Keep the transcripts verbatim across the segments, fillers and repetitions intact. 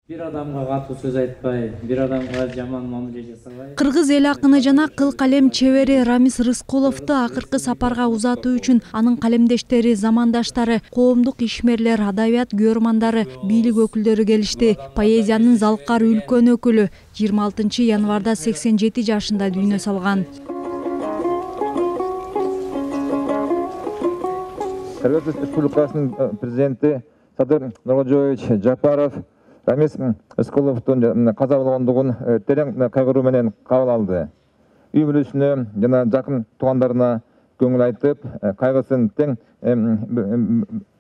Бир адамга катуу сөз айтпай, бир адамга жаман мамиле жасабай. Кыргыз эл акыны жана кыл калем чебери Рамис Рыскуловду акыркы сапарга узатуу үчүн анын калемдештери, замандаштары, коомдук ишмерлер, адабият көрмандары, бийлик өкүлдөрү келишти. Поэзиянын залкар үлкөн өкүлү жыйырма алтынчы январда сексен жети жашында дүйнө салган. Кыргыз Республикасынын президенти Садыр Нуркожоевич Жапаров Рамис Рыскуловдун каза болгондугун терең кайгыруу менен кабыл алды. Үй бүлөсүнө жана жакын туугандарына көңүл айтып, кайгысын тең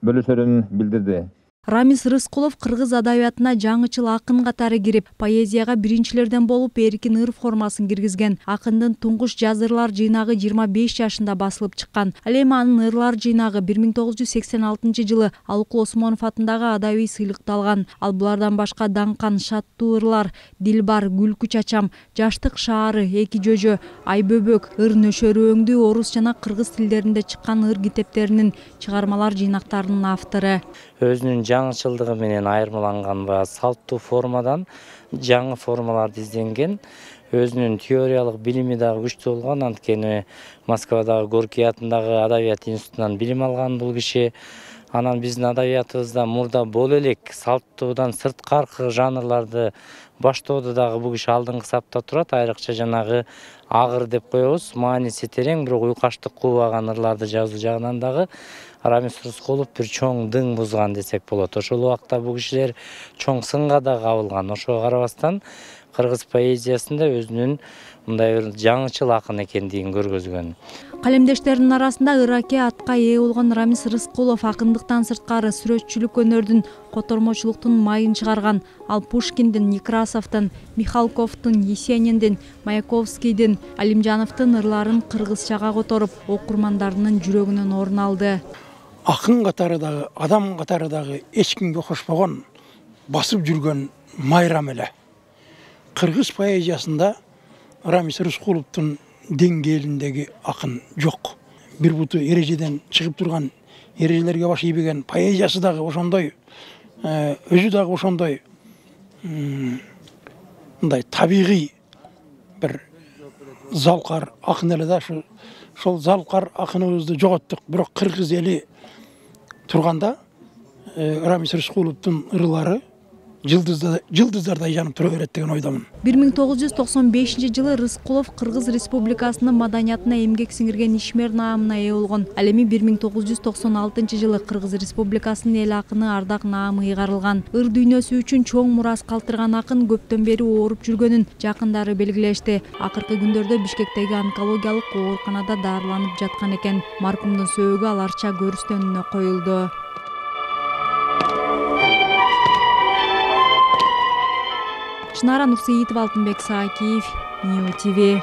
бөлүшөрүн билдирди. Рамис Рыскулов кыргыз адабиятына жаңычыл акын катары кирип, поэзияга биринчилерден болуп эркин ыр формасын киргизген. Акындын туңгуш жазырлар жыйнагы жыйырма беш жашында басылып чыккан. Ал эми анын ырлар жыйнагы бир миң тогуз жүз сексен алтынчы жылы Алыкул Осмонов атындагы адабий сыйлыкты алган. Ал булардан башка Даңкан, Шаттуу ырлар, Дилбар, Күлкү чачам, Жаштык шаары, Эки жөжө, Айбөбөк, Ыр нөшөрүөңдү орус жана кыргыз тилдеринде чыккан ыр китептеринин чыгармалар жыйнактарынын автору. Өзүнүн жаңычылдыгы менен айырмаланган баягы салттуу формадан жаңы формаларды изденген. Өзүнүн теориялык билими дагы күчтүү болгон, анткени Москвадагы Горький атындагы адабият институтунан билим алган бул киши. Анан биздин адабиятыбызда мурда боло элек салттуудан сырткаркы жанрларды баштоодо дагы бул киши алдыңкы сапта турат. Айрыкча жанагы агыр деп коебуз, мааниси терең, бирок уйкаштык кубаган ырларды жазуу жагынан дагы Рамис Рыскулов бир чоң дың бузган десек болот. Ошол убакта бул кишилер чоң сынга да кабылган. Ошого карабастан кыргыз поэзиясында өзүнүн мындай бир жаңычыл акын экендигин көргөзгөн. Калемдештеринин арасында ыраке атка ээ болгон Рамис Рыскулов акындыктан сырткары сүрөтчүлүк өнөрдүн, котормочулуктун майын чыгарган. Ал Пушкиндин, Некрасовдун, Михалковдун, Есениндин, Маяковскийдин, Алимжановдун ырларын кыргызчага которуп, окурмандарынын жүрөгүнөн орун алды. Акын катары дагы, адам катары дагы эч кимге окшошпогон, басып жүргөн майрам эле. Кыргыз поэзиясында Рамис Рыскуловдун деңгээлиндеги акын жок. Бир буту эрежеден чыгып турган, эрежелерге баш ийбеген, поэзиясы дагы ошондой, өзү дагы ошондой мындай табигый бир залкар акын эле да. Ошол залкар акыныбызды жоготтук. Бирок кыргыз эли турганда Рамис Рыскуловдун ырлары жылдыздардай жанып тура берет деген ойдомун. бир миң тогуз жүз токсон бешинчи жылы Рыскулов Кыргыз Республикасынын маданиятына эмгек сиңирген ишмер наамына ээ болгон. Ал эми бир миң тогуз жүз токсон алтынчы жылы Кыргыз Республикасынын эл акыны ардак наамы ыйгарылган. Ыр дүйнөсү үчүн чоң мурас калтырган акын көптөн бери ооруп жүргөнүн жакындары белгилешти. Акыркы күндөрдө Бишкектеги онкологиялык ооруканада дарыланып жаткан экен. Маркумдун сөөгү аларча көрүстөнүнө коюлду. Чынара Нурсейитова, Алтынбек Саакиев, Нью ТВ.